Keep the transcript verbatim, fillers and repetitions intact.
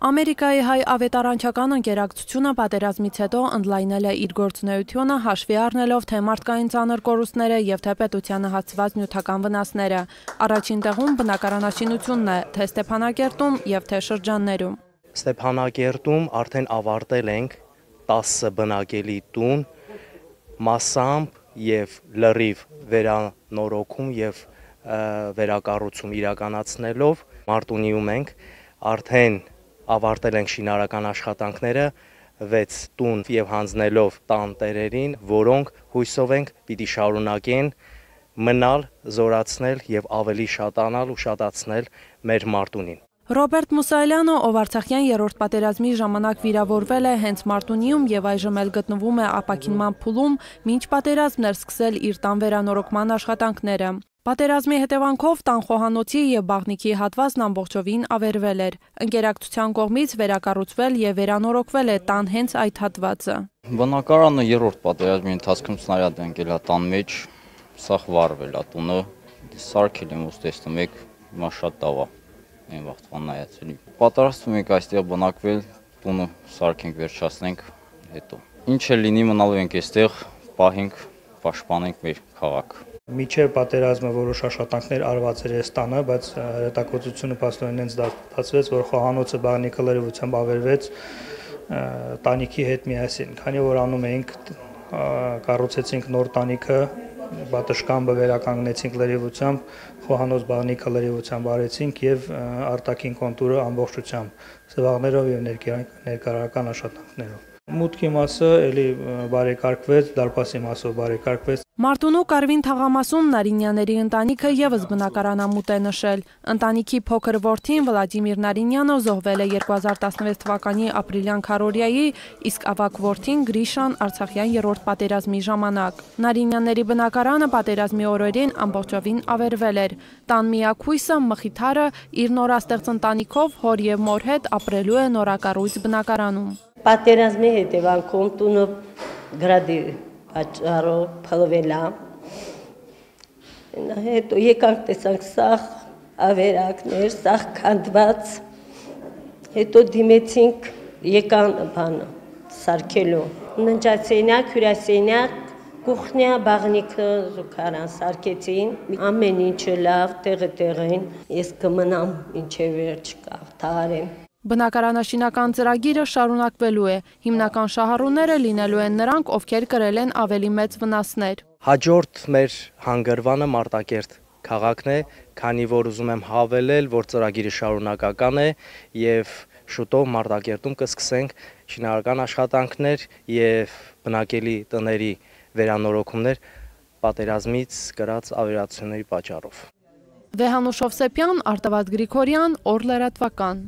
Ամերիկայի հայ ավետարանչական ընկերակցությունը պատերազմից հետո ընդլայնել է իր գործունեությունը հաշվի առնելով թե մարդկային ծանր կորուստները և թե պետությանը հասցված նյութական վնասները։ Առաջին տեղում բնակարանաշինությունն է, թե Ստեփանակերտում և թե շրջաններում։ Ստեփանակերտում արդեն ավարտել ենք տասը բնակելի տուն, մասամբ և լրիվ վերանորոգում և վերակառուցում իրականացնելով, Մարտունիում ենք արդեն ավարտել ենք շինարական աշխատանքները, վեց տուն և հանձնելով տան տերերին, որոնք հույսով ենք պիտի շարունակեն մնալ, զորացնել և ավելի շատանալ ու շատացնել մեր Մարտունին։ Ռոբերտ Մուսայելյանը, ով Արցախյան երրորդ պատերազմի ժամանակ վիրավորվել է հենց Մարտունիում և այժմ էլ գտնվում է ապաքինման փուլում, մինչ պատերազմն էր սկսել իր տան վերանորոգման աշխատանքները։ Պատերազմի հետևանքով տան խոհանոցի և բաղնիքի հատվածն ամբողջովին ավերվել էր։ Ընկերակցության կողմից վերակառուցվել և վերանորոգվել է տան հենց այդ հատվածը։ Բնակարանը երրորդ պատերազմի ընթացքում սնարյադ է ընկել տան մեջ, սաղ վառվել է տունը, սարքել եմ ոնց տեսնում եք, հիմա շատ լավ է, այն վաղտվան նայեցելի։ Պատրաստվում ենք այստեղ բնակվել, տունը սարքենք, վերջացնենք, հետո ինչ էլ լինի մնալու ենք այստեղ, պահենք, պաշտպանենք մեր քաղաքը։ Մինչև պատերազմը որոշ աշխատանքներ արված էր այս տանը, բայց հետաքրքրությունը փաստորեն հենց դարձվեց, որ խոհանոցը բաղնիքը լրիվությամբ ավերվեց տանիքի հետ միասին, քանի որ անում էինք, կառուցեցինք նոր տանիքը, պատշգամբը վերականգնեցինք լրիվությամբ, խոհանոց բաղնիքը լրիվությամբ արեցինք և արտաքին կոնտուրը ամբողջությամբ, սվաղներով և ներկայական աշխատանքներով։ Մուտքի մասը էլի բարեկարգվեց, դարպասի մասով բարեկարգվեց։ Մարտունու Կարվին թաղամասում Նարինյանների ընտանիքը ևս բնակարանամուտ է նշել։ Ընտանիքի փոքր որդին Վլադիմիր Նարինյանը զոհվել է երկու հազար տասնվեց թվականի ապրիլյան քառօրյայի, իսկ ավագ որդին Գրիշան Արցախյան երրորդ պատերազմի ժամանակ։ Նարինյանների բնակարանը պատերազմի օրերին ամբողջովին ավերվել էր։ Տան միակ հույսը Մխիթարը իր նորաստեղծ ընտանիքով, հոր և մոր հետ ապրելու է նորակառույց բնակարանում։ Պատերազմի հետևանքով տունը գրադի պատճառով փլվել է։ Հետո եկանք տեսանք սաղ ավերակներ, սաղ քանդված, հետո դիմեցինք եկան բանը սարքելու։ Ննջասենյակ, հյուրասենյակ, կուխնյա, բաղնիքը, զուգարան սարքեցին, ամեն ինչը լավ, տեղը տեղին, ես կմնամ մինչև վերջ կհաղթահարեմ։ Բնակարանաշինական ծրագիրը շարունակվելու է։ Հիմնական շահառուները լինելու են նրանք, ովքեր կրել են ավելի մեծ վնասներ։ Հաջորդ մեր հանգրվանը Մարտակերտ քաղաքն է, քանի որ ուզում եմ հավելել, որ ծրագիրը շարունակական է և շուտով Մարտակերտում կսկսենք շինարական աշխատանքներ և բնակելի տների վերանորոգումներ պատերազմից կրած ավերածությունների պատճառով։ Վեհանուշ Հովսեփյան, Արտավազդ Գրիգորյան, Օր լրատվական։